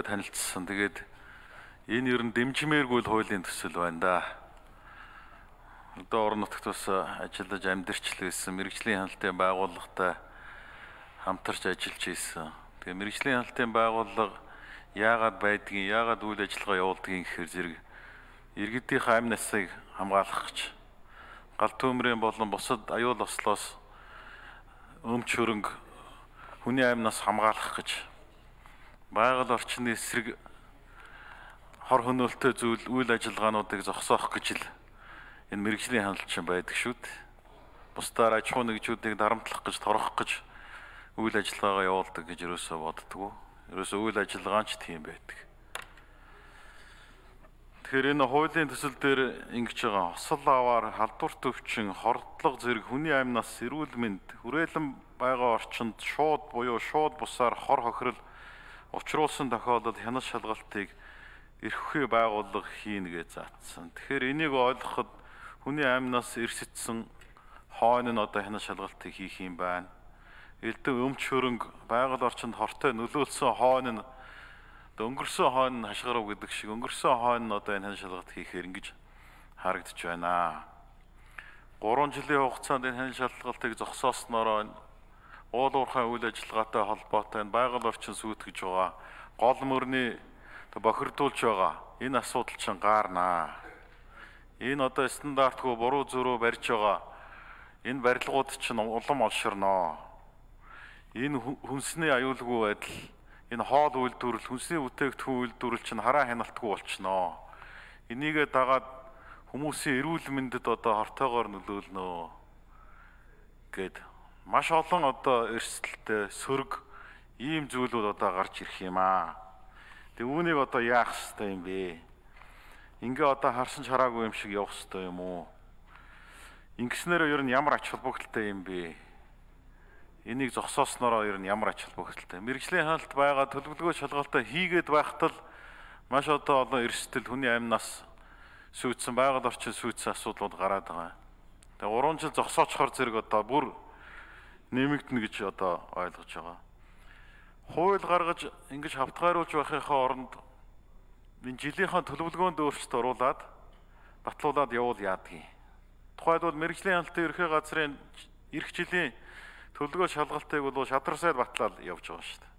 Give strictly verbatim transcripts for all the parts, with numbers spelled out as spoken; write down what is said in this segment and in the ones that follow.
танилцсан. Тэгээд энэ ер нь дэмжмээргүй л хуулийн төсөл байна да. Одоо орон нутагт бас ажиллаж амьдарч л байсан мэрэгжлийн хяналтын байгууллагатай хамтарч ажиллаж ийсэн. Тэгээ мэрэгжлийн хяналтын байгууллага яагаад байдгийг, яагаад үйл ажиллагаа явуулдгийг гэхээр зэрэг иргэдийн амь насыг хамгаалах гэж гал төмрийн болон бусад аюул ослоос өмч хөрөнгө хүний амь нас хамгаалах гэж байгаль орчны эсрэг хор хөнөөлтөй зүйл үйл ажиллагаануудыг зогсоох гэж л энэ мэрэгжлийн хяналт байдаг шүү дээ. Бусдаар аж ахуй нэгжүүдийг дарамтлах гэж, торгох гэж үйл ажиллагаагаа явуулдаг гэж ерөөсөө боддгоо. Ерөөсөө үйл ажиллагаа ч тийм байдаг. Тэгэхээр энэ хуулийн төсөл дээр ингэж байгаа осол аваар халдвар төвчин, хордлого зэрэг хүний амь нас, эрүүл мэнд, хүрээлэн байгаа орчинд шууд буюу шууд бусаар хор хохирол учруулсан тохиолдолд хянаж шалгалтыг эрхлэх байгууллага хийнэ гэж заасан. Тэгэхээр энийг ойлгоход хүний амь нас эрсэтсэн хойно нь одоо хянаж шалгалтыг хийх юм байна. Элдв өмч хөрөнгө байгаль орчинд хортой нөлөөлсөн хойно нь өнгөрсөн хойно нь хашгирав гэдэг шиг өнгөрсөн хойно нь одоо энэ хянаж шалгалт хийхээр ингэж харагдаж байна. гурван жилийн хугацаанд энэ хянаж шалгалтыг зогсоосноор уул уурхай үйл ажиллагаатай холбоотой энэ байгаль орчин сүйтгэж байгаа гол мөрний бохирдуулж байгаа энэ асуудал чинь гаарнаа. Энэ одоо стандартгүй буруу зөрүү барьж байгаа энэ барилгууд чинь улам олширноо. Энэ хүнсний аюулгүй байдал, энэ хоол үйлдвэрлэл, хүнсний бүтээгдэхүүн үйлдвэрлэл чинь хараа хяналтгүй болчихноо. Энийгээ дагаад хүмүүсийн эрүүл мэндэд одоо хортойгоор нөлөөлнө гэд маш олон одоо эрсдэлтэй сөрөг ийм зүйлүүд одоо гарч ирэх юм аа. Тэг үүнийг одоо яах ёстой юм бэ? Ингээ одоо харсан ч хараагүй юм шиг явах ёстой юм уу? Ингэснээр ер нь ямар ач холбогдолтой юм бэ? Энийг зогсооснороо ер нь ямар ач холбогдолтой? Мэргэжлийн хяналт байгаа төлөвлөгөө шалгалтаа хийгээд байхад л маш одоо олон эрсдэл хүний амь нас сүйдсэн байгаль орчин сүйдсэн асуудлууд гараад байгаа. Тэгээ гурван жил зогсоочхоор зэрэг одоо бүр нэмэгдэнэ гэж одоо ойлгож байгаа. Хууль гаргаж ингэж хавтгайруулж байхынхаа оронд энэ жилийнхаа төлөвлөгөөнд өөрчлөлт оруулаад батлуулаад явуул яадгийг. Тухайлбал мэргэжлийн хяналтын ерхий газрын эх жилийн төлөвлөгөө шалгалтыг бол шадар сайд батлаад явж байгаа шүү дээ.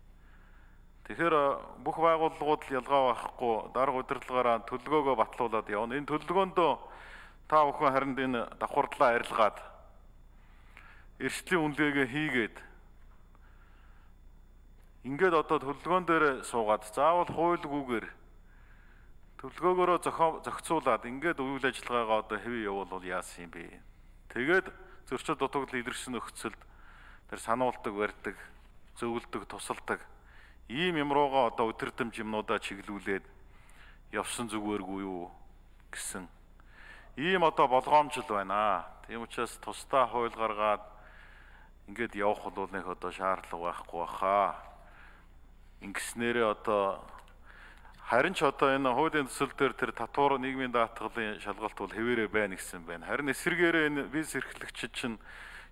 Тэгэхээр бүх байгууллагууд л ялгаа байхгүй дарга удирдлагаараа төлөвлөгөөгөө батлуулаад явна. Энэ төлөвлөгөөндөө та бүхэн харин энэ давхардлаа арилгаад эрсдлийн үнэлгээгээ хийгээд ингээд одоо төлөвлөгөөн дээр суугаад заавал хуульгүйгээр төлөвлөгөөгөөрөө зохицуулаад ингээд үйл ажиллагаагаа одоо хэвээ явуул яасан юм бэ? Тэгээд зөрчил дутагдал илэрсэн нөхцөлд тэр сануулдаг, барьдаг, зөвлөдөг, тусалдаг ийм юм руугаа одоо өдөрдөмж юмнуудаа чиглүүлээд явсан зүгээргүй юу гэсэн ийм одоо болгоомжл байна. Тийм учраас тусдаа хууль гаргаад ингээд явах бол нэг одоо шаардлага байхгүй баха. Ингэснээрээ одоо харин ч одоо энэ хуулийн төсөл дээр тэр татвар нийгмийн даатгалын шалгалт бол хэвээрээ байна гэсэн байна. Харин эсвэргээрээ энэ виз эрхлэгчид чинь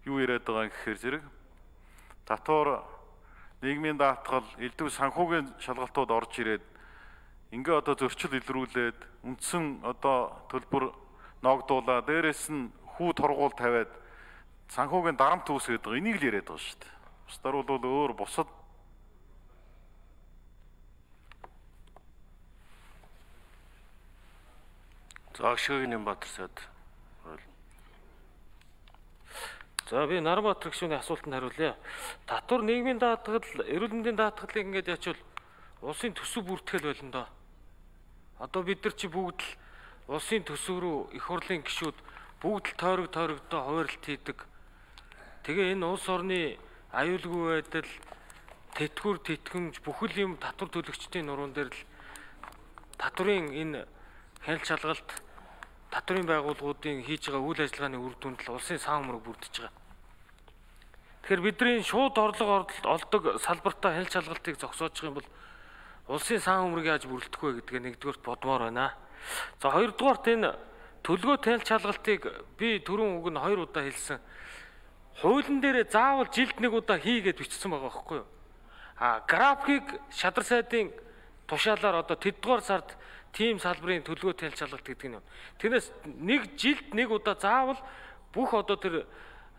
юу яриад байгаа гэхээр зэрэг татвар нийгмийн даатгал элдв санхүүгийн шалгалтууд орж ирээд ингээ одоо зөрчил илрүүлээд үндсэн одоо төлбөр ногдуулаа дээрээс нь хүү торгуул тавиад санхүүгийн дарамт үүсгээд байгаа. Энийг л яриад байгаа шүү дээ. Бусдаар бол өөр бусад Загшгийн Нямбатар сайд. За би Нарбаатар гишүүний асуултанд хариулъя. Татвар нийгмийн даатгал, эрүүл мэндийн даатгалыг ингээд ячвал улсын төсөв бүртгэл болно доо. Одоо бид нар чи бүгд л улсын төсөв рүү их хурлын гишүүд бүгд л тойрог тойрогдоо хуваарлт хийдэг. Тэгээ энэ улс орны аюулгүй байдал, тэтгэвэр тэтгэмж бүхэл юм татвар төлөгчдийн нуруунд дээр л татварын энэ хяналт шалгалт татварын байгууллагуудын хийж байгаа үйл ажиллагааны үр дүнд л улсын сан өмнөг бүрдэж байгаа. Тэгэхээр бидний шууд орлого олдог салбартаа хяналт шалгалтыг зогсоож байгаа юм бол улсын сан өмнөг яаж бүрэлдэх вэ гэдгээ нэгдүгээрт бодмоор байна. За хоёрдугаарт энэ төлгөө хяналт шалгалтыг би түрүүн үг нь хоёр удаа хэлсэн. Хуулийн дээр заавал жилд нэг удаа хийгээд бичсэн байгаа байхгүй юу? А графикийг шадар сайдын тушаалаар одоо тэддугаар сард тийм салбарын төлгөө танилж шалгалт гэдэг нь. Тэрнээс нэг жилд нэг удаа заавал бүх одоо тэр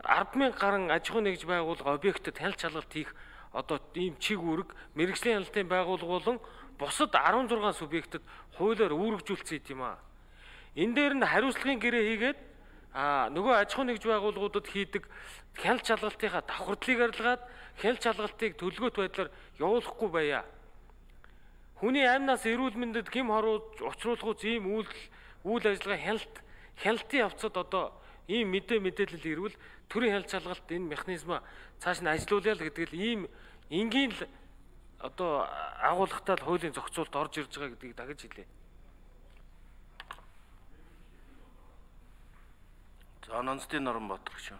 ард мянга гаруй аж ахуй нэгж байгууллага объектэд танилж шалгалт хийх одоо ийм чиг үүрэг мэрэгжлийн хяналтын байгууллага болон бусад арван зургаан субъектэд хуулиар үүргэжүүлсэн юм аа. Энэ дээр нь хариуцлагын гэрээ хийгээд а нөгөө аж ахуй нэгж байгууллагуудад хийдэг хяналт шалгалтынхаа давхардлыг арилгаад хяналт шалгалтыг төлгөөт байдлаар явуулахгүй байя. Хүний амнаас эрүүл мэндэд хэм хорууж учруулахуйц ийм үйлдэл үйл ажиллагаа хяналт хяналтын явцад одоо ийм мэдээ мэдээлэл ирвэл төрийн хяналт шалгалт энэ механизма цааш нь ажилуулъя л гэдэг л ийм энгийн л одоо агуулгатай л хуулийн зохицуулт орж ирж байгаа гэдгийг дахиж хэлье. За Нонцдын Норонбаатар гэж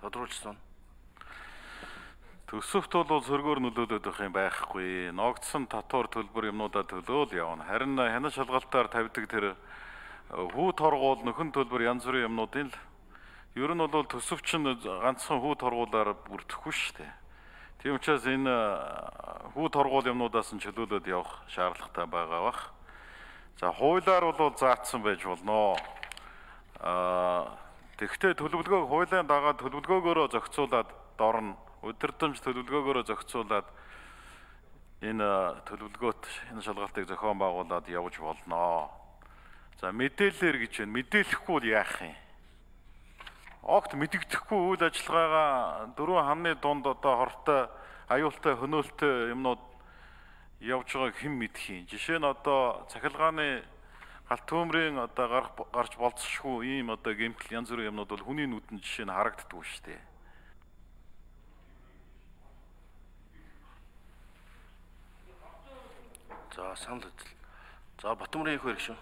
тодруулсан. Төсөвт бол сөргөөр нөлөөлөд байх юм байхгүй. Ногдсон татвар төлбөр юмнуудаа төлөөл явна. Харин хяналт шалгалтаар тавьдаг тэр хүү торгуул нөхөн төлбөр янз бүрийн юмнуудын л ер нь бол төсөв чинь ганцхан хүү торгуулаар бүрдэхгүй шүү дээ. Тийм учраас энэ хүү торгуул юмнуудаас нь чөлөөлөд явах шаардлагатай байгаа бах. За хуулиар бол заасан байж болно. Аа тэгвэл төлөвлөгөөг хуулийн дагаад төлөвлөгөөгөөрөө зохицуулаад дорно. Удирдамж төлөвлөгөөгөөрөө зохицуулаад энэ төлөвлөгөөт энэ шалгалтыг зохион байгуулад явж болно. За мэдээлэлэр гэж байна. Мэдээлэхгүй бол яах юм? Огт мэдэгдэхгүй үйл ажиллагаагаа дөрвөн хамны дунд одоо хортой, аюултай, хөнөөлтөй юмнууд явж байгааг хэн мэдэх юм? Жишээ нь одоо цахилгааны галт төмрийн одоо гарах гарч болцсошгүй ийм одоо гэмтэл янз бүрийн юмнууд бол хүний нүдэнд жишээ нь харагддаггүй шүү дээ. За санал үзэл. За Батмарын их хэрэг шүү.